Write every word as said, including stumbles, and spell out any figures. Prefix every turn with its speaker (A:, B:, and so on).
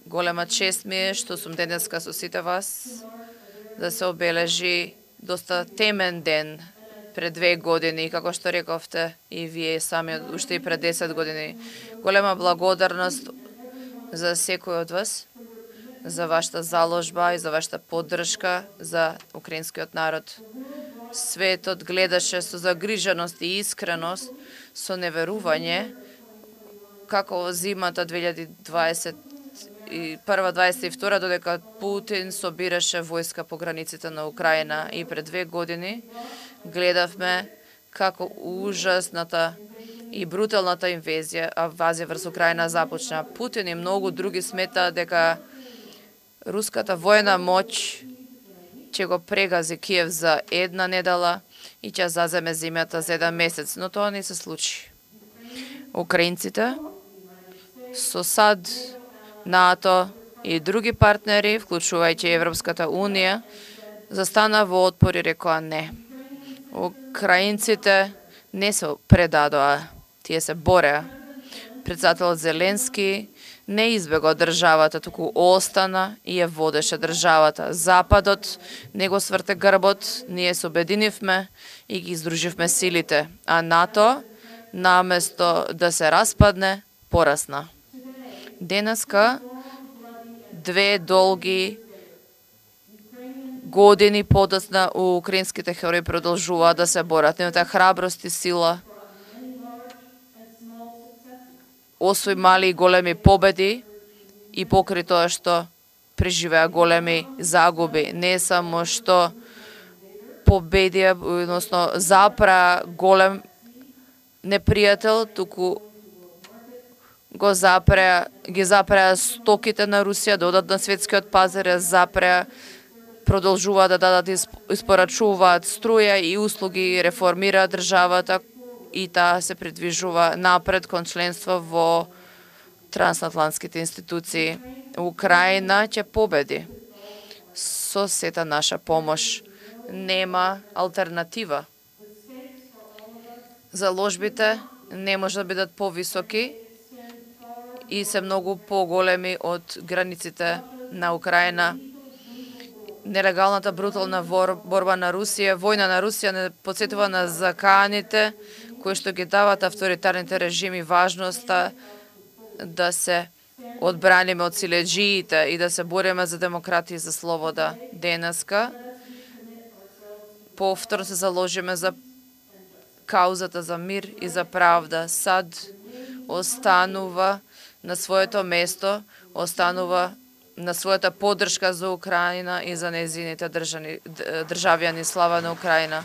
A: Голема чест ми е што сум денеска со сите вас да се обележи доста темен ден пред две години, како што рековте и вие сами уште и пред десет години. Голема благодарност за секој од вас, за вашата заложба и за вашата поддршка за украинскиот народ. Светот гледаше со загриженост и искреност, со неверување, како зимата две илјади дваесет и прва дваесет и втора додека Путин собираше војска по границите на Украина и пред две години гледавме како ужасната и бруталната инвазија, инвазија врз Украина започна. Путин и многу други смета дека руската војна моќ ќе го прегази Киев за една недела и ќе заземе земјата за еден месец, но тоа не се случи. Украинците со САД, НАТО и други партнери, вклучувајќи Европската Унија, застана во отпор и рекоа не. Украинците не се предадоа, тие се бореа. Председателот Зеленски не избегал државата, туку остана и ја водеше државата. Западот не го сврте грбот, ние се обединивме и ги издруживме силите, а НАТО, наместо да се распадне, порасна. Денеска, две долги години подоцна, украинските херои продолжуваат да се борат. Нивната храброст и сила освои мали и големи победи и покри тоа што преживеа големи загуби. Не само што победија, односно запра голем непријател, туку го запреа, ги запреа стоките на Русија да одат на светскиот пазар, ја запреа, продолжуваат да дадат, испорачуваат струја и услуги, реформираат државата и таа се придвижува напред кон членство во трансатлантските институции. Украина ќе победи со сета наша помош. Нема алтернатива. Заложбите не може да бидат повисоки и се многу поголеми од границите на Украина. Нелегалната брутална борба на Русија, војна на Русија не подсетува на заканите кои што ги дават авторитарните режими важноста да се одбраниме од силеџиите и да се бориме за демократија и за слобода. Денеска повторно се заложиме за каузата за мир и за правда. САД останува на своето место, останува на својата поддршка за Украина и за нејзините државјани. Слава на Украина!